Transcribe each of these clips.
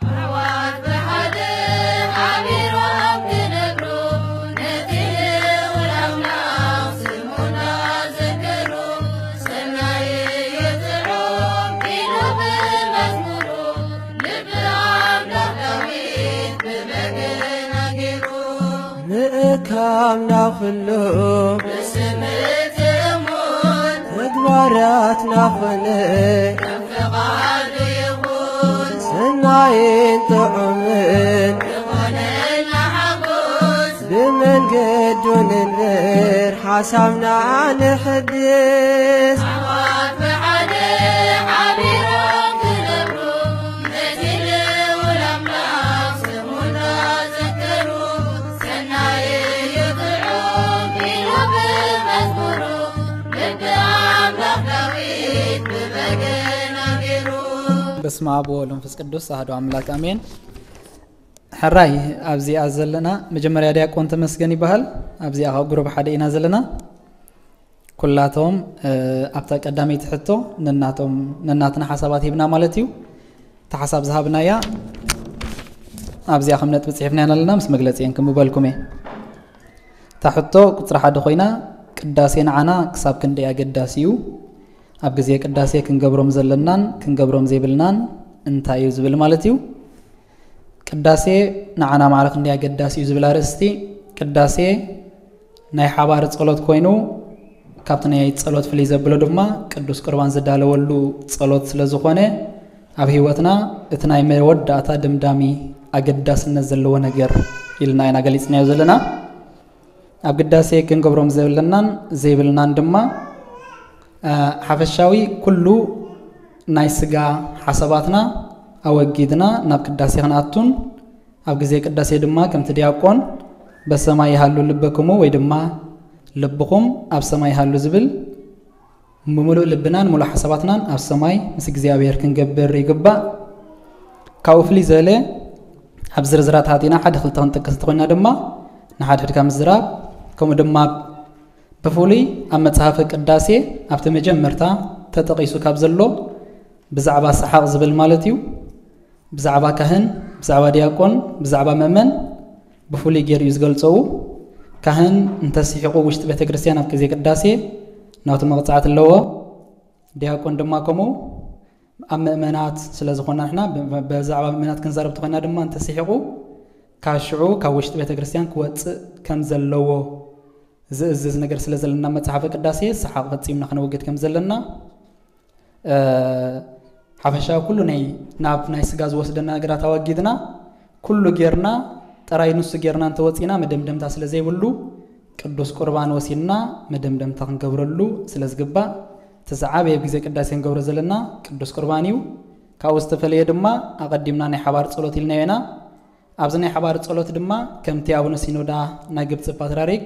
ኣሕዋት ብሓደ ሓቢሮም ክነግሩ፣ ነቲ ልዑል ኣምላኽ ስሙ እናዘከሩ፣ ሰናይ እዩ ጥዑም ኢሉ ብመዝሙሩ፣ ልቢ ኣምላኽ ዳዊት ብበገና ገይሩ። ምእካብና ኩሉ ብስምቲ እሙን ተግባራትና ኾነ ፍቓዱ ይኹን። ሰናይን ጥዑምን ይኾነና ሓጎስ። ብመንገዱ ንንበር ሓሳብና ንሕድስ። ኣሕዋት ብሓደ ሓቢሮም ክነብሩ፣ ነቲ ልዑል ኣምላኽ ስሙ እናዘከሩ፣ ሰናይ እዩ ጥዑም ኢሉ ብመዝሙሩ፣ ልቢ ኣምላኽ ዳዊት ብበገና ገይሩ። በስመ አብ ወወልድ ወመንፈስ ቅዱስ ኣሐዱ ኣምላክ ኣሜን። ሕራይ ኣብዚኣ ዘለና መጀመርያ ዲያቆን ተመስገን ይበሃል። ኣብዚኣ ካብ ጉሩብ ሓደ ኢና ዘለና። ኩላቶም ኣብታ ቀዳመይቲ ሕቶ ነናቶም ነናትና ሓሳባት ሂብና ማለት እዩ። እታ ሓሳብ ዝሃብናያ ኣብዚኣ ከም ነጥቢ ፅሒፍና ኣለና፣ ምስ መግለፂ እየን ክምበልኩም እየ። እታ ሕቶ ቁፅሪ ሓደ ኮይና፣ ቅዳሴ ንዓና ክሳብ ክንደይ ኣገዳሲ እዩ? ኣብ ግዜ ቅዳሴ ክንገብሮም ዘለናን ክንገብሮም ዘይብልናን እንታይ እዩ ዝብል ማለት እዩ። ቅዳሴ ንዓና ማዕረ ክንደይ ኣገዳሲ እዩ ዝብል ኣርእስቲ። ቅዳሴ ናይ ሓባር ጸሎት ኮይኑ፣ ካብቲ ናይ ጸሎት ፍልይ ዘብሎ ድማ ቅዱስ ቁርባን ዝዳለወሉ ጸሎት ስለ ዝኾነ፣ ኣብ ህይወትና እቲ ናይ መወዳእታ ድምዳሚ ኣገዳስነት ዘለዎ ነገር ኢልና ኢና ገሊጽናዮ ዘለና። ኣብ ግዳሴ ክንገብሮም ዘለናን ዘይብልናን ድማ፣ እ፣ ሓፈሻዊ ኩሉ ናይ ስጋ ሓሳባትና ኣወጊድና ናብ ቅዳሴ ክንኣቱን፣ ኣብ ግዜ ቅዳሴ ድማ ከምቲ ዲያቆን "በሰማይ ይሃሉ ልበክሙ" ወይ ድማ "ልብኹም ኣብ ሰማይ ይሃሉ" ዝብል ብምሉእ ልብናን ምሉእ ሓሳባትናን ኣብ ሰማይ ምስ እግዚኣብሔር ክንገብር ይግባእ። ካብኡ ፍልይ ዝበለ፣ ኣብ ዝርዝራት ኣቲና ሓደ ክልተ ክንጠቅስ እንተኾይና ድማ፣ ንሓድሕድካ ምዝራብ፣ ከምኡ ድማ ብፍሉይ ኣብ መጽሓፈ ቅዳሴ ኣብቲ መጀመርታ ተጠቒሱ ካብ ዘሎ ብዛዕባ ሰሓቕ ዝብል ማለት እዩ። ብዛዕባ ካህን፣ ብዛዕባ ዲያቆን፣ ብዛዕባ ምእመን ብፍሉይ ገይሩ እዩ ዝገልጸው። ካህን እንተስሒቑ ውሽጢ ቤተ ክርስቲያን ኣብ ግዜ ቅዳሴ ናቱ መቕጻዕቲ ኣለዎ። ዲያቆን ድማ ከምኡ ኣብ ምእመናት ስለ ዝኾና ንሕና ብ-፣ ብ-፣ ብዛዕባ ምእመናት ክንዛረብ ተኾይና ድማ እንተስሒቑ ካብ ሽዑ ካብ ውሽጢ ቤተ ክርስቲያን ክወጽእ ከም ዘለዎ ዝእዝዝ ነገር ስለ ዘለና መጽሓፈ ቅዳሴ ሰሓቕ ፈጺምና ክነወግድ ከም ዘለና እ፣ ሓፈሻዊ ኩሉ ናይ፣ ናብ ናይ ስጋ ዝወስደና ነገራት ኣወጊድና፣ ኩሉ ጌርና፣ ጥራይ ንሱ ጌርና እንተወጺና መደምደምታ ስለ ዘይብሉ፣ ቅዱስ ቁርባን ወሲድና መደምደምታ ክንገብረሉ ስለ ዝግባእ፣ እቲ ዝዓበየ ኣብ ግዜ ቅዳሴ ክንገብሮ ዘለና ቅዱስ ቁርባን እዩ። ካብኡ ዝተፈለየ ድማ ኣቐዲምና ናይ ሓባር ጸሎት ኢልናዮ ኢና። ኣብዚ ናይ ሓባር ጸሎት ድማ ከምቲ ኣቡነ ሲኖዳ ናይ ግብጺ ፓትርያርክ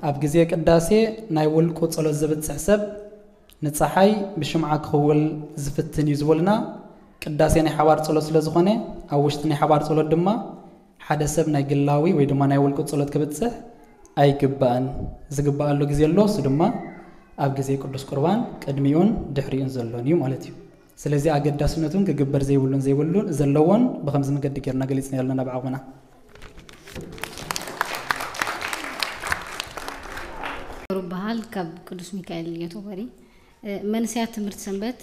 ኣብ ግዜ ቅዳሴ ናይ ውልቁ ጸሎት ዘብጽሕ ሰብ ንጸሓይ ብሽምዓ ክኽውል ዝፍትን እዩ ዝበሉና። ቅዳሴ ናይ ሓባር ጸሎት ስለ ዝኾነ፣ ኣብ ውሽጢ ናይ ሓባር ጸሎት ድማ ሓደ ሰብ ናይ ግላዊ ወይ ድማ ናይ ውልቁ ጸሎት ክብጽሕ ኣይግባእን። ዝግባኣሉ ግዜ ኣሎ፣ እሱ ድማ ኣብ ግዜ ቅዱስ ቁርባን ቅድሚኡን ድሕሪኡን ዘሎን እዩ ማለት እዩ። ስለዚ ኣገዳስነቱን ክግበር ዘይብሉን ዘይብሉን ዘለዎን ብኸምዚ መገዲ ጌርና ገሊጽና ኣለና ብዓቕምና። ገብሩ በሃል ካብ ቅዱስ ሚካኤል ዮቶቦሪ። እ፣ መንእሰያት ትምህርቲ ሰንበት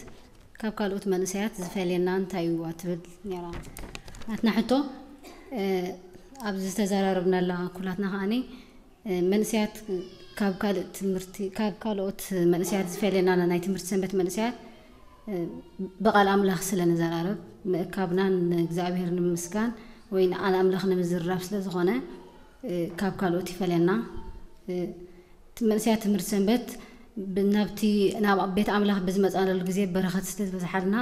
ካብ ካልኦት መንእሰያት ዝፈልየና እንታይ እዩ ትብል ነይራ ናትና ሕቶ። እ፣ ኣብዚ ዝተዘራረብናላ ኩላትና ከኣኒ መንእሰያት ካብ ካልእ ትምህርቲ፣ ካብ ካልኦት መንእሰያት ዝፈልየና ናይ ትምህርቲ ሰንበት መንእሰያት ብቓል ኣምላኽ ስለ ንዘራረብ፣ ምእካብናን ንእግዚኣብሔር ንምስጋን ወይ ንቓል ኣምላኽ ንምዝርራብ ስለ ዝኾነ፣ ካብ ካልኦት ይፈልየና። እቲ መንእሰያት ትምህርቲ ሰንበት ብ-፣ ናብቲ፣ ናብ ቤት ኣምላኽ ብዝመጻናሉ ግዜ በረኸት ስለ ዝበዝሓልና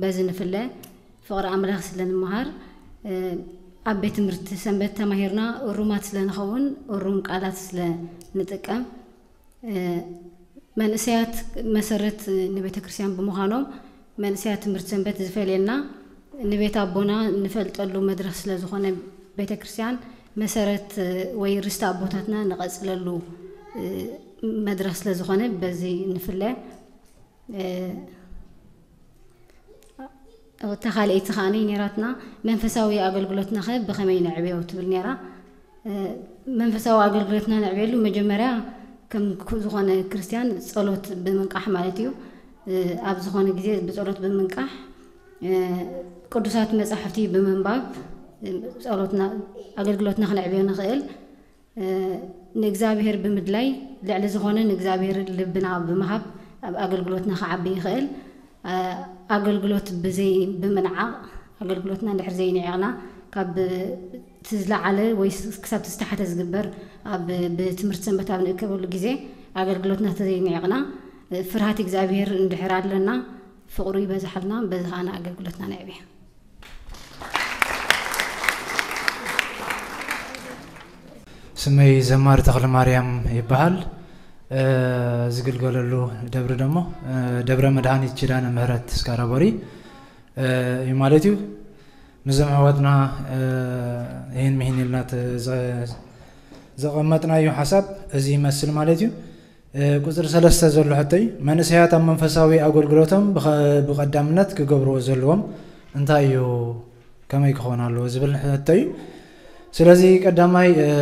በዚ ንፍለ። ፍቕሪ ኣምላኽ ስለ ንመሃር፣ ኣብ ቤት ትምህርቲ ሰንበት ተማሂርና እሩማት ስለ ንኸውን፣ እሩም ቃላት ስለ ንጥቀም፣ መንእሰያት መሰረት ንቤተ ክርስቲያን ብምዃኖም፣ መንእሰያት ትምህርቲ ሰንበት ዝፈልየና፣ ንቤት ኣቦና ንፈልጠሉ መድረኽ ስለ ዝኾነ፣ ቤተ ክርስቲያን መሰረት ወይ ርስቲ ኣቦታትና ንቐጽለሉ መድረኽ ስለ ዝኾነ፣ በዚ ንፍለ። እታ ካልኣይቲ ከኣ ነይራትና፣ መንፈሳዊ ኣገልግሎትናኸ ብኸመይ ነዕብዮ ትብል ነይራ። መንፈሳዊ ኣገልግሎትና ነዕብየሉ መጀመርያ ከም ኩ-፣ ዝኾነ ክርስቲያን ጸሎት ብምንቃሕ ማለት እዩ። ኣብ ዝኾነ ግዜ ብጸሎት ብምንቃሕ፣ ቅዱሳት መጻሕፍቲ ብምንባብ፣ ጸሎትና፣ ኣገልግሎትና ክነዕብዮ ንኽእል። ንእግዚኣብሔር ብምድላይ፣ ልዕሊ ዝኾነ ንእግዚኣብሔር ልብና ብምሃብ ኣብ ኣገልግሎትና ክዓቢ ይኽእል። ኣገልግሎት ብዘይ-፣ ብምንዓቕ፣ ኣገልግሎትና እንድሕር ዘይንዒቕና፣ ካብ እቲ ዝለዓለ ወይ ስ-፣ ክሳብ እቲ ዝተሓተ ዝግበር ኣብ፣ ብትምህርቲ ሰንበት ኣብ ንእከበሉ ግዜ ኣገልግሎትና ተዘይንዒቕና፣ ፍርሃት እግዚኣብሔር እንድሕር ኣለና፣ ፍቕሩ ይበዝሓልና፣ በዚ ኸኣ ንኣገልግሎትና ነዕብዮ። ስመይ ዘማሪ ተኽለ ማርያም ይበሃል። እ፣ ዝግልገለሉ ደብሪ ደሞ፣ እ፣ ደብረ መድኃኒት ኪዳነ ምህረት ስካራቦሪ፣ እ፣ እዩ ማለት እዩ። ምስዞም ኣሕዋትና፣ እ፣ ይህን ምሂን ኢልና ተ-፣ ዘ-፣ ዘቐመጥናዮ ሓሳብ እዚ ይመስል ማለት እዩ። እ፣ ቁጽሪ ሰለስተ ዘሎ ሕቶይ፣ መንእሰያት ኣብ መንፈሳዊ ኣገልግሎቶም ብኸ-፣ ብቐዳምነት ክገብርዎ ዘለዎም እንታይ እዩ? ከመይ ክኾን ኣለዎ ዝብል ሕቶ እዩ። ስለዚ ቀዳማይ፣ እ፣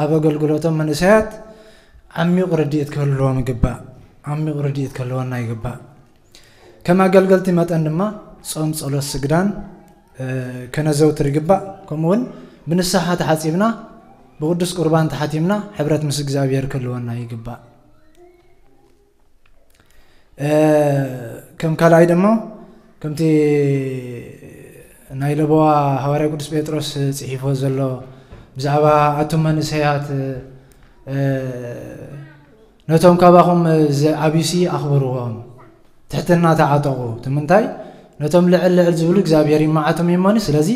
ኣብ ኣገልግሎቶም መንእሰያት ዓሚቕ ርድኢት ክህልዎም ይግባእ። ዓሚቕ ርድኢት ክህልወና ይግባእ። ከም ኣገልገልቲ መጠን ድማ ጾም፣ ጸሎት፣ ስግዳን፣ እ፣ ከነዘውትር ይግባእ። ከምኡ እውን ብንስሓ ተሓጺብና፣ ብቅዱስ ቁርባን ተሓቲምና ሕብረት ምስ እግዚኣብሔር ክህልወና ይግባእ። እ፣ ከም ካልኣይ ደሞ ከምቲ ናይ ለበዋ ሃዋርያ ቅዱስ ጴጥሮስ ጽሒፎ ዘሎ ብዛዕባ ኣቱም መንእሰያት፣ እ፣ ነቶም ካባኹም ዝዓብዩሲ ኣኽብርዎም፣ ትሕትና ተዓጠቑ። እቲ ምንታይ? ነቶም ልዕል ልዕል ዝብሉ እግዚኣብሔር ይመዓቶም እዩሞኒ። ስለዚ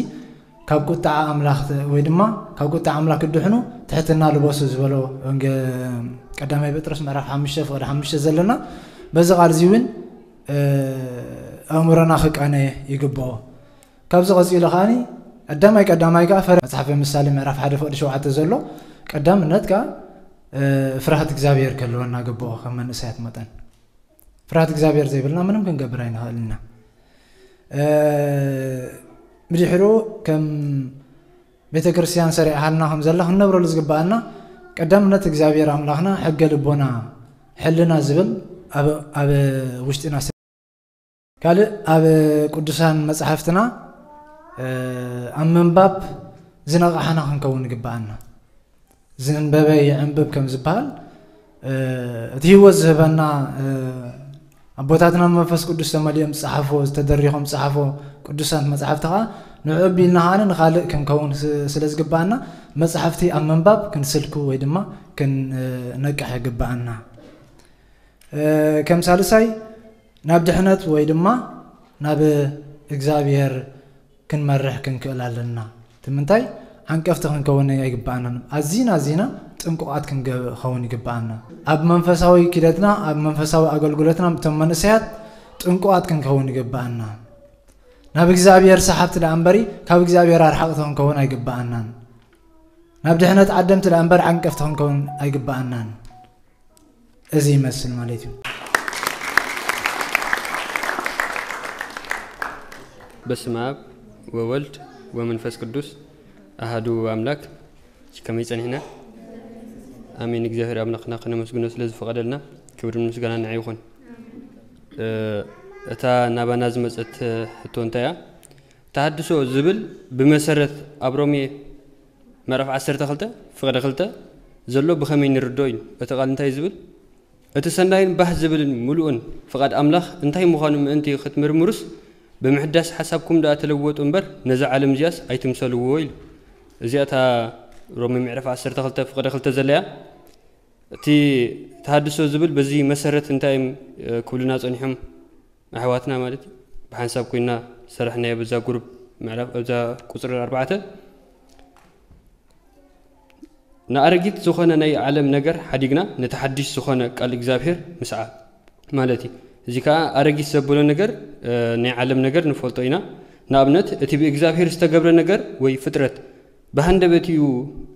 ካብ ቁጥዓ ኣምላኽ ተ-፣ ወይ ድማ ካብ ቁጥዓ ኣምላኽ ክድሕኑ ትሕትና ልበሱ ዝበሎ ወንጌ-፣ ቀዳማይ ጴጥሮስ ምዕራፍ ሓሙሽተ ፍቕዲ ሓሙሽተ ዘለና። በዚ ቃል እዚ እውን፣ እ፣ ኣእምሮና ክቃነ ይግብኦ። ካብዚ ቀጺሉ ከኣኒ ቀዳማይ ቀዳማይ ከኣ ፈረ-፣ መጽሓፈ ምሳሌ ምዕራፍ ሓደ ፍቕዲ ሸውዓተ ዘሎ ቀዳምነት ከኣ፣ እ፣ ፍርሃት እግዚኣብሔር ክህልወና ግብኦ ከም መንእሰያት መጠን። ፍርሃት እግዚኣብሔር ዘይብልና ምንም ክንገብር ኣይንኽእልን ኢና። እ፣ ብድሕሩ ከም ቤተ ክርስቲያን ሰሪዓሃልና ከም ዘላ ክንነብረሉ ዝግብኣና ቀዳምነት እግዚኣብሔር ኣምላኽና ሕገ ልቦና ሕልና ዝብል ኣብ፣ ኣብ ውሽጥና ስ-፣ ካልእ ኣብ ቅዱሳን መጻሕፍትና፣ እ፣ ኣብ ምንባብ ዝነቓሕና ክንከውን ይግብኣና። ዝንበበ ይዕንብብ ከም ዝበሃል፣ እ፣ እቲ ህይወት ዝህበና፣ እ፣ ኣቦታትና መንፈስ ቅዱስ ተመሊኦም ዝጸሓፍዎ፣ ዝተደሪኾም ዝጸሓፍዎ ቅዱሳት መጻሕፍቲ ኸኣ ንዕኡ ኣቢልና ኸኣ ንኻልእ ክንከውን ስ-፣ ስለ ዝግብኣና መጻሕፍቲ ኣብ ምንባብ ክንስልኩ ወይ ድማ ክን-፣ እ፣ ነቅሕ ይግብኣና። እ፣ ከም ሳልሳይ ናብ ድሕነት ወይ ድማ ናብ እግዚኣብሔር ክንመርሕ ክንክእል ኣለና። እቲ ምንታይ? ዓንቀፍቲ ክንከውን ኣይግብኣናን። ኣዚና ኣዚና ጥንቁቓት ክንከውን ይግብኣና። ኣብ መንፈሳዊ ኪደትና፣ ኣብ መንፈሳዊ ኣገልግሎትና እቶም መንእሰያት ጥንቁቓት ክንከውን ይግብኣና። ናብ እግዚኣብሔር ሰሓብቲ ደኣ እምበሪ ካብ እግዚኣብሔር ኣርሓቕቲ ክንከውን ኣይግብኣናን። ናብ ድሕነት ዓደምቲ ደኣ እምበር ዓንቀፍቲ ክንከውን ኣይግብኣናን። እዚ ይመስል ማለት እዩ። በስመ አብ ወወልድ ወመንፈስ ቅዱስ አሐዱ አምላክ። ከመይ ጸኒሕና? ኣሜን። እግዚኣብሔር ኣምላኽና ከነመስግኖ ስለ ዝፈቐደልና ክብርን ምስጋና ንዓይ ይኹን። እ፣ እታ ናባና ዝመጸት ሕቶ እንታይ እያ? ተሃድሶ ዝብል ብመሰረት ኣብ ሮሜ ምዕራፍ ዓሰርተ ክልተ ፍቕዲ ክልተ ዘሎ ብኸመይ ንርድኦ እዩ? እቲ ቃል እንታይ ዝብል? እቲ ሰናይን ባህ ዝብልን ምሉእን ፍቓድ ኣምላኽ እንታይ ምዃኑ ምእንቲ ክትምርምሩስ፣ ብምሕዳስ ሓሳብኩም ደኣ ተለወጡ እምበር፣ ነዛ ዓለም እዚኣስ ኣይትምሰልዎ ኢሉ። እዚኣ እታ ሮሜ ምዕራፍ ዓሰርተ ክልተ ፍቕዲ ክልተ ዘለያ፣ እቲ ተሃድሶ ዝብል በዚ መሰረት እንታይ እዮም፣ እ፣ ክብሉና ጸኒሖም ኣሕዋትና ማለት እዩ። ብሓንሳብ ኮይና ሰራሕናዮ በዛ ጉሩፕ ምዕራፍ፣ ኣብዛ ቁጽሪ ኣርባዕተ። ንኣረጊት ዝኾነ ናይ ዓለም ነገር ሓዲግና፣ ነቲ ሓድሽ ዝኾነ ቃል እግዚኣብሔር ምስዓብ ማለት እዩ። እዚ ከኣ ኣረጊት ዘበሎ ነገር፣ እ፣ ናይ ዓለም ነገር ንፈልጦ ኢና። ንኣብነት፣ እቲ ብእግዚኣብሔር ዝተገብረ ነገር ወይ ፍጥረት ብሃንደበት እዩ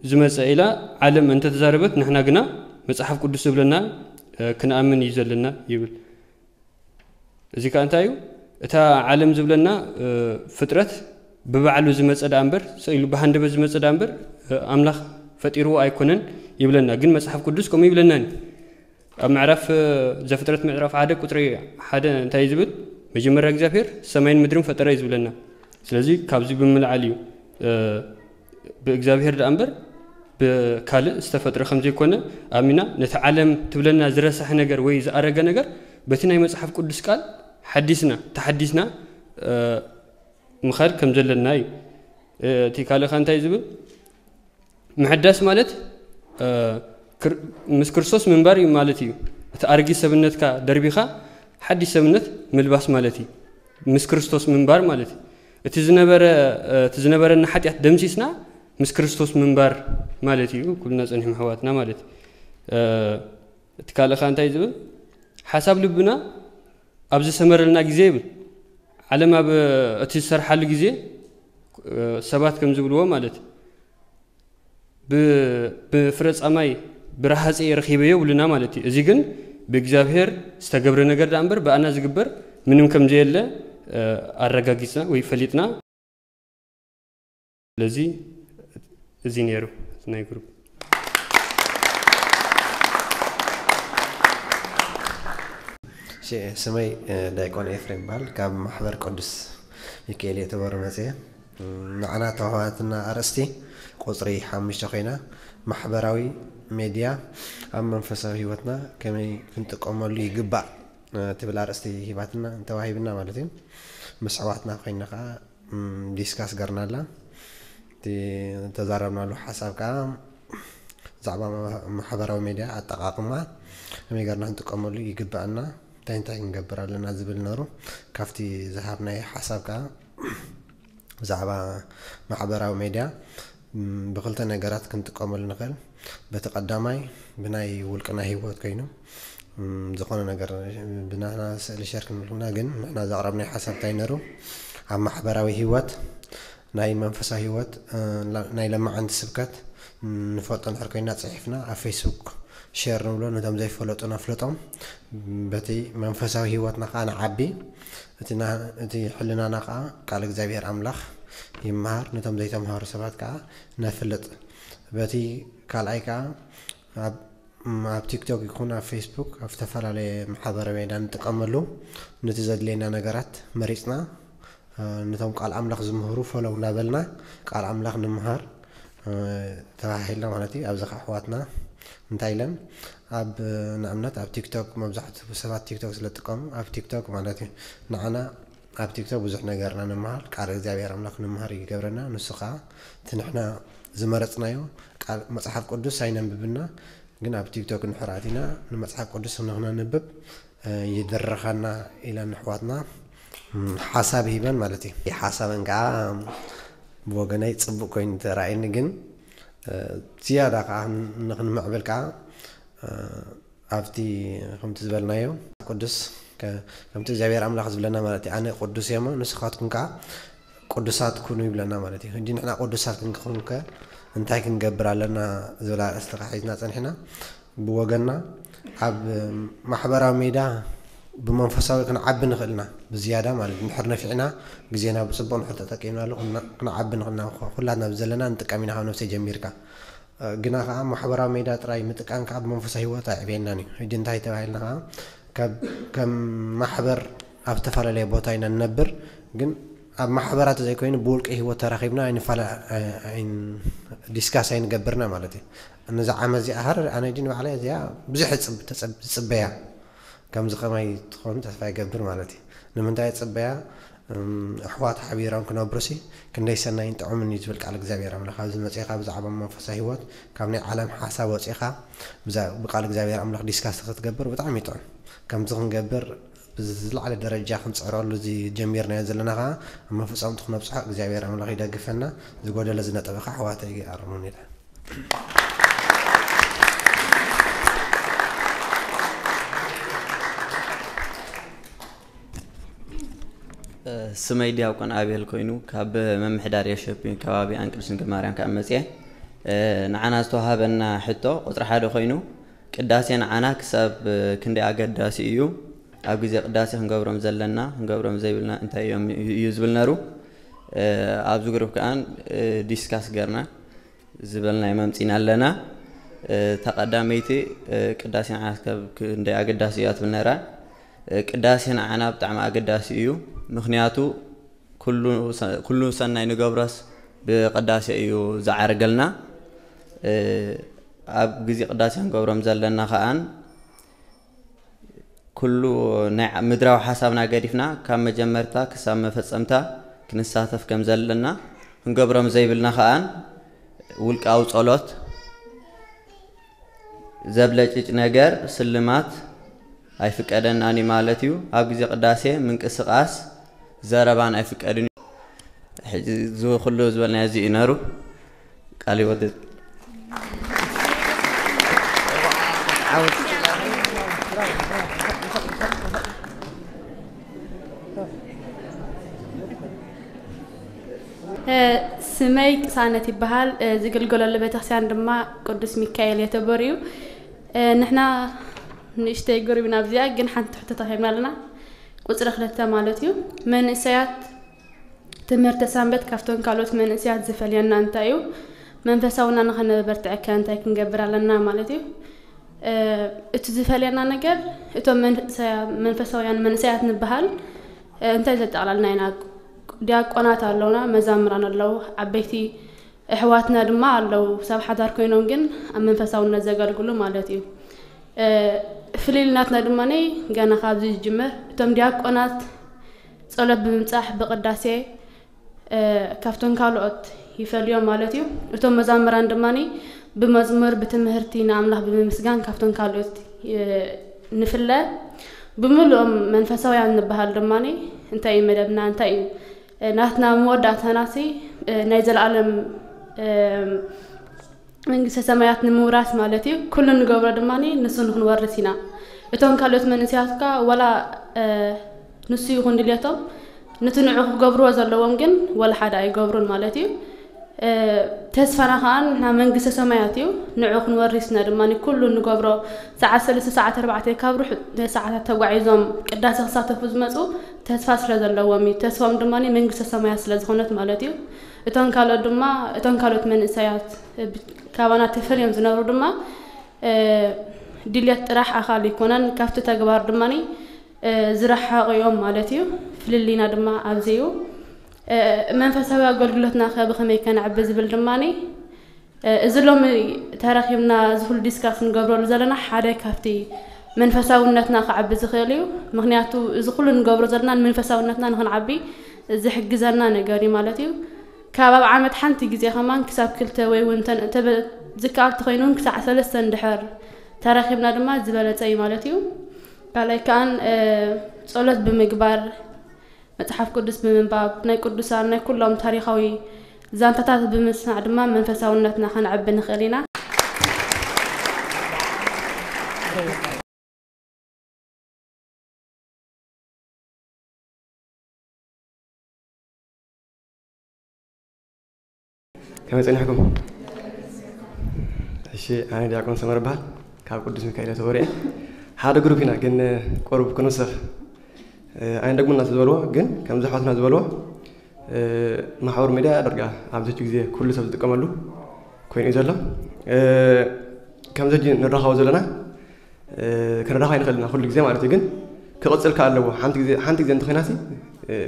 ዝመጸ ኢላ ዓለም እንተተዛረበት፣ ንሕና ግና መጽሓፍ ቅዱስ ዝብለና፣ እ፣ ክንኣምን እዩ ዘለና ይብል። እዚ ከኣ እንታይ እዩ? እታ ዓለም ዝብለና፣ እ፣ ፍጥረት ብባዕሉ ዝመጸ ደኣ እምበር፣ ስኢሉ ብሃንደበት ዝመጸ ደኣ እምበር፣ እ፣ ኣምላኽ ፈጢርዎ ኣይኮነን ይብለና። ግን መጽሓፍ ቅዱስ ከምኡ ይብለናን እዩ። ኣብ ምዕራፍ፣ እ፣ ዘፍጥረት ምዕራፍ ሓደ ቁጽሪ ሓደ እንታይ እዩ ዝብል? መጀመርያ እግዚኣብሔር ሰማይን ምድርን ፈጠረ እዩ ዝብለና። ስለዚ ካብዚ ብምልዓል እዩ፣ እ፣ ብእግዚኣብሔር ደኣ እምበር ብካልእ ዝተፈጥረ ከም ዘይኮነ ኣሚና፣ ነቲ ዓለም ትብለና ዝረሳሕ ነገር ወይ ዝኣረገ ነገር በቲ ናይ መጽሓፍ ቅዱስ ቃል ሓዲስና፣ ተሓዲስና፣ እ፣ ምኻድ ከም ዘለና እዩ። እ፣ እቲ ካልእ ከ እንታይ ዝብል? ምሕዳስ ማለት፣ እ፣ ክር-፣ ምስ ክርስቶስ ምንባር እዩ ማለት እዩ። እቲ ኣረጊት ሰብነትካ ደርቢኻ ሓዲስ ሰብነት ምልባስ ማለት እዩ። ምስ ክርስቶስ ምንባር ማለት እዩ። እቲ ዝነበረ፣ እ፣ እቲ ዝነበረና ሓጢኣት ደምሲስና ምስ ክርስቶስ ምንባር ማለት እዩ። ኩልና ጸኒሕና ኣሕዋትና ማለት እዩ። እ፣ እቲ ካልእ ከ እንታይ ዝብል? ሓሳብ ልብና ኣብ ዝሰመረልና ግዜ ይብል። ዓለም ኣብ እቲ ዝሰርሓሉ ግዜ፣ እ፣ ሰባት ከም ዝብልዎ ማለት ብ-፣ ብፍረ ጻማይ ብረሃጽ እየ ረኺበዮ ይብሉና ማለት እዩ። እዚ ግን ብእግዚኣብሔር ዝተገብረ ነገር ደኣ እምበር ብኣና ዝግበር ምንም ከም ዘየለ፣ እ፣ ኣረጋጊጽና ወይ ፈሊጥና። ስለዚ እዚ ነይሩ ናይ ግሩፕ። እሺ፣ ስመይ፣ እ፣ ዳይቆን ኤፍሬም ይበሃል። ካብ ማሕበር ቅዱስ ሚካኤል የተበሩ መጽየ። እ፣ ንዓና ተዋህትና ኣርእስቲ ቁጽሪ ሓሙሽተ ኮይና፣ ማሕበራዊ ሜድያ ኣብ መንፈሳዊ ህይወትና ከመይ ክንጥቀመሉ ይግባእ፣ እ፣ ትብል ኣርእስቲ ሂባትና፣ ተዋሂብና ማለት እዩ። ምስ ኣሕዋትና ኮይና ከኣ፣ ም፣ ዲስካስ ገርናላ። እቲ ተዛረብናሉ ሓሳብ ከኣ ብዛዕባ ማ-፣ ማሕበራዊ ሜድያ ኣጠቓቕማ ከመይ ገርና ክንጥቀመሉ ይግበኣና፣ እንታይ እንታይ ክንገብር ኣለና ዝብል ነሩ። ካብቲ ዝሃብናዮ ሓሳብ ከኣ ብዛዕባ ማሕበራዊ ሜድያ፣ ም፣ ብክልተ ነገራት ክንጥቀመሉ ንኽእል። በቲ ቀዳማይ ብናይ ውልቅና ህይወት ኮይኑ፣ ም፣ ዝኾነ ነገር ብናና ስእሊ ሸር ክንብል ከለና ግን ንሕና ዘቕረብናዮ ሓሳብ እንታይ ነሩ? ኣብ ማሕበራዊ ህይወት ናይ መንፈሳዊ ህይወት፣ እ፣ ላ-፣ ናይ ለማዓንቲ ስብከት ንፈልጦ እንድሕር ኮይና ጽሒፍና ኣብ ፌስቡክ ሼር ንብሎ፣ ነቶም ዘይፈለጡ ነፍልጦም። በቲ መንፈሳዊ ህይወትና ከኣ ንዓቢ፣ እቲ ና-፣ እቲ ሕልናና ከኣ ቃል እግዚኣብሔር ኣምላኽ ይመሃር፣ ነቶም ዘይተምሃሩ ሰባት ከኣ ነፍልጥ። በቲ ካልኣይ ከኣ ኣብ፣ ኣብ ቲክቶክ ይኹን ኣብ ፌስቡክ፣ ኣብ ዝተፈላለየ ማሕበራዊ ሜድያ ንጥቀመሉ፣ ነቲ ዘድልየና ነገራት መሪጽና፣ እ፣ ነቶም ቃል ኣምላኽ ዝምህሩ ፎሎው እናበልና ቃል ኣምላኽ ንምሃር፣ እ፣ ተባሂልና ማለት እዩ። ኣብዚ ኸዓ ኣሕዋትና እንታይ ኢለን፣ ኣብ፣ ንኣብነት ኣብ ቲክቶክ መብዛሕትኡ ሰባት ቲክቶክ ስለ ዝጥቀሙ፣ ኣብ ቲክቶክ ማለት እዩ፣ ንዓና ኣብ ቲክቶክ ብዙሕ ነገርና ንምሃር፣ ቃል እግዚኣብሔር ኣምላኽ ንምሃር ይገብረና። ንሱ ኸዓ እቲ ንሕና ዝመረጽናዮ ቃል መጽሓፍ ቅዱስ ኣይነንብብና፣ ግን ኣብ ቲክቶክ እንድሕር ኣቲና ንመጽሓፍ ቅዱስ ንኽነንብብ፣ እ፣ ይድርኸና ኢለን ኣሕዋትና፣ ም፣ ሓሳብ ሂበን ማለት እዩ። ሓሳበን ከዓ ብወገነይ ጽቡቅ ኮይኑ ተራእየኒ፣ ግን፣ እ፣ ዝያዳ ከዓ ንኽንምዕብል ከዓ፣ እ፣ ኣብቲ ከምቲ ዝበልናዮ ቅዱስ ከ-፣ ከምቲ እግዚኣብሔር ኣምላኽ ዝብለና ማለት እዩ። ኣነ ቅዱስ እየ እሞ ንስኻትኩም ከዓ ቅዱሳት ኩኑ ይብለና ማለት እዩ። ሕጂ ንሕና ቅዱሳት ክንክውን ከ እንታይ ክንገብር ኣለና ዝብል ኣርእስቲ ከዓ ሒዝና ጸኒሕና። ብወገንና ኣብ ማሕበራዊ ሜዳ ብመንፈሳዊ ክንዓቢ ንኽእል ኢና ብዝያዳ ማለት እዩ። እንድሕር ነፊዕና ግዜና ብጽቡቕ እንድሕር ተጠቂምናሉ ክና-፣ ክንዓቢ ንኽእል ኢና። ኩላትና ብዘለና ንጥቀም ኢና ካብ ነብሰይ ጀሚርካ። ግና ከዓ ማሕበራዊ ሜዳ ጥራይ ምጥቃም ከዓ ብመንፈሳዊ ህይወት ኣየዕብየናን እዩ። ሕጂ እንታይ ተባሂልና ከዓ ካብ፣ ከም ማሕበር ኣብ ዝተፈላለየ ቦታ ኢና ንነብር፣ ግን ኣብ ማሕበራት ዘይኮይኑ ብውልቂ ህይወት ተራኺብና ኣይንፋላ ዲስካስ ኣይንገብርና ማለት እዩ። ነዛ ዓመት እዚኣ ሃረር ኣነ ዲን ባዕላ እዚኣ ብዙሕ ዝፅበያ ከምዚ ከማይ ትኾኑ ተስፋ ይገብር ማለት እዩ። ንምንታይ ፅበያ? ኣሕዋት ሓቢሮም ክነብሩሲ ክንደይ ሰናይን ጥዑምን እዩ ዝብል ቃል እግዚኣብሔር ኣምላኽ ኣብዚ መፅኻ ብዛዕባ መንፈሳዊ ህይወት ካብ ናይ ዓለም ሓሳብ ወፂኻ ብቃል እግዚኣብሔር ኣምላኽ ዲስካስ ክትገብር ብጣዕሚ ይጥዑም። ከምዚ ክንገብር ብዝለዓለ ደረጃ ክንፅዕረሉ እዚ ጀሚርናዮ ዘለና ከዓ ኣብ መፈፀምቱ ክነብፅሖ እግዚኣብሔር ኣምላኽ ይደግፈና። ዝጎደለ ዝነጠበ ከዓ ኣሕዋተይ ኣርሙን ኢለ ስመይ ዲያቆን ኣቤል ኮይኑ ካብ መምሕዳር የሸፒ ከባቢ ኣንቅድስን ማርያም ካብ መፅየ። ንዓና ዝተዋሃበና ሕቶ ቁፅሪ ሓደ ኮይኑ ቅዳሴ ንዓና ክሳብ ክንደይ ኣገዳሲ እዩ? ኣብ ግዜ ቅዳሴ ክንገብሮም ዘለና ክንገብሮም ዘይብልና እንታይ እዮም እዩ ዝብል ነሩ። ኣብዚ ግሩፕ ከኣን ዲስካስ ገርና ዝበልናዮ መምፂና ኣለና። እታ ቀዳመይቲ ቅዳሴ ንዓና ክሳብ ክንደይ ኣገዳሲ እያ ትብል ነራ። ቅዳሴ ንዓና ብጣዕሚ ኣገዳሲ እዩ። ምክንያቱ ኩሉ ሰናይ ንገብሮስ ብቅዳሴ እዩ ዝዓርገልና። ኣብ ግዜ ቅዳሴ ክንገብሮም ዘለና ከኣን ኩሉ ናይ ምድራዊ ሓሳብና ገዲፍና ካብ መጀመርታ ክሳብ መፈጸምታ ክንሳተፍ ከም ዘለና ክንገብሮም ዘይብልና ከኣን ውልቃዊ ጸሎት ዘብለጭጭ ነገር ስልማት ኣይፍቀደናን እዩ ማለት እዩ። ኣብ ግዜ ቅዳሴ ምንቅስቃስ ዘረባን ኣይፍቀድን እዩ። ሕጂ እዚ ኩሉ ዝበልናዮ እዚ እዩ ነሩ። ቃል ይወድድ። ስመይ ቅሳነት ይበሃል። ዝግልገለሉ ቤተክርስትያን ድማ ቅዱስ ሚካኤል የተቦር እዩ። ንሕና ንእሽተይ ጉሩብ ኢና ኣብዚኣ፣ ግን ሓንቲ ሕቶ ተረኺብና ኣለና። ቁፅሪ ክልተ ማለት እዩ። መንእሰያት ትምህርተ ሰንበት ካብቶም ካልኦት መንእሰያት ዝፈልየና እንታይ እዩ? መንፈሳውና ንኸነበርትዐከ እንታይ ክንገብር ኣለና ማለት እዩ? እቲ ዝፈልየና ነገር እቶም መንፈሳውያን መንእሰያት ንበሃል እንታይ ዘጠቓላልና ኢና? ዲያቆናት ኣለውና፣ መዛምራን ኣለዉ፣ ዓበይቲ ኣሕዋትና ድማ ኣለዉ፣ ሰብ ሓዳር ኮይኖም ግን ኣብ መንፈሳውነት ዘገልግሉ ማለት እዩ። ፍልልይ ናትና ድማ ገና ካብዚ ዝጅምር እቶም ዲያቆናት ጸሎት ብምብጻሕ ብቅዳሴ ካብቶም ካልኦት ይፈልዮም ማለት እዩ። እቶም መዛምራን ድማ ብመዝሙር ብትምህርቲ ንኣምላኽ ብምምስጋን ካብቶም ካልኦት ንፍለ። ብምልኦም መንፈሳውያን ንበሃል ድማ እንታይ እዩ መደብና እንታይ እዩ? ናትና መወዳእታናሲ ናይ ዘለኣለም መንግስተ ሰማያት ንምውራስ ማለት እዩ። ኩሉ ንገብሮ ድማ ንሱ ንክንወርስ ኢና። እቶም ካልኦት መንእሰያት ከ ዋላ ንሱ ይኹን ድልየቶም ንቲ ንዑ ክገብርዎ ዘለዎም ግን ዋላ ሓደ ኣይገብሩን ማለት እዩ። ተስፋና ከዓ ንሕና መንግስተ ሰማያት እዩ። ንዑ ክንወርስ ኢና ድማ ኩሉ ንገብሮ ሰዓት ሰለስተ ሰዓት ኣርባዕተ ካብ ሩሕ ሰዓታት ተጓዒዞም ቅዳሴ ክሳተፉ ዝመፁ ተስፋ ስለ ዘለዎም እዩ። ተስፋም ድማ መንግስተ ሰማያት ስለ ዝኾነት ማለት እዩ። እቶም ካልኦት ድማ እቶም ካልኦት መንእሰያት ካባና ተፈልዮም ዝነብሩ ድማ ድልየት ጥራሕ ኣኻል ይኮነን፣ ካብቲ ተግባር ድማ ዝረሓቑ እዮም ማለት እዩ። ፍልልይና ድማ ኣብዚ እዩ። መንፈሳዊ ኣገልግሎትና ከ ብኸመይ ከነዕቢ ዝብል ድማ እዚ ሎሚ ተረኺብና እዚ ኩሉ ዲስካስ ንገብረሉ ዘለና ሓደ ካብቲ መንፈሳውነትና ክዓቢ ዝኽእል እዩ። ምክንያቱ እዚ ኩሉ ንገብሮ ዘለና ንመንፈሳውነትና ንክንዓቢ ዝሕግዘና ነገር እዩ ማለት እዩ። ካብ ኣብ ዓመት ሓንቲ ግዜ ከማን ክሳብ ክልተ ወይ እውን ዝከኣል ተኮይኑ እውን ክሳዕ ሰለስተ እንድሕር ተረኺብና ድማ ዝበለፀ እዩ ማለት እዩ። ካልኣይ ከኣን ጸሎት ብምግባር መጽሓፍ ቅዱስ ብምንባብ ናይ ቅዱሳን ናይ ኩሎም ታሪኻዊ ዛንታታት ብምስማዕ ድማ መንፈሳውነትና ከነዕቢ ንኽእል ኢና። ከመይ ጸኒሕኩም? እሺ፣ ኣነ ዲያቆን ሰመረ እበሃል፣ ካብ ቅዱስ ሚካኤል ተወሪኤ። ሓደ ግሩፕ ኢና ግን ቁሩብ ክንውስኽ ኣይንደግሙና ዝበልዎ ግን ከምዚ ኣሕዋትና ዝበልዎ ማሕበራዊ ሚድያ ዳርጋ ኣብዚ ሕጂ ግዜ ኩሉ ሰብ ዝጥቀመሉ ኮይኑ እዩ ዘሎ። ከምዚ ሕጂ ንራኸቦ ዘለና ክንራኸብ ኣይንኽእል ኢና ኩሉ ግዜ ማለት እዩ። ግን ክቕፅል ከ ኣለዎ። ሓንቲ ግዜ ሓንቲ ግዜ እንተኾይናሲ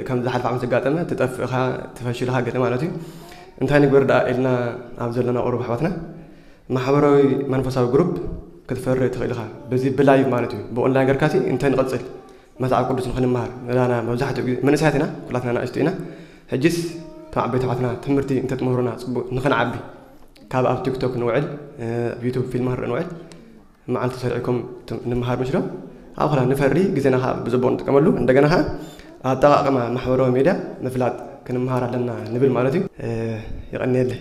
ከም ዝሓልፍ ዓመት ዘጋጠመ ትጠፍእኻ ትፈሽልኻ ገለ ማለት እዩ። እንታይ ንግበር ደኣ ኢልና ኣብ ዘለና ቁሩብ ኣሕዋትና ማሕበራዊ መንፈሳዊ ግሩፕ ክትፈሪ ትኽእል ኢኻ። በዚ ብላይቭ ማለት እዩ ብኦንላይን ገርካሲ እንታይ ንቐጽል መጽሓፍ ቅዱስ ንኽንመሃር ንላና መብዛሕትኡ ግዜ መንእሰያት ኢና፣ ኩላትና ንኣሽቱ ኢና። ሕጅስ እቶም ዓበይቲ ኣሕዋትና ትምህርቲ እንተትምህሩና ጽቡቅ ንኽንዓቢ ካብ ኣብ ቲክቶክ ንውዕል ኣብ ዩቱብ ፊልም ንርኢ ንውዕል መዓልቲ ሰሪዕኩም ንምሃር ምሽ ዶ ኣብ ኸላ ንፈሪ ግዜና ከዓ ብፅቡቅ ንጥቀመሉ። እንደገና ከዓ ኣጠቃቅማ ማሕበራዊ ሜድያ ምፍላጥ ክንምሃር ኣለና ንብል ማለት እዩ። የቀንየለይ።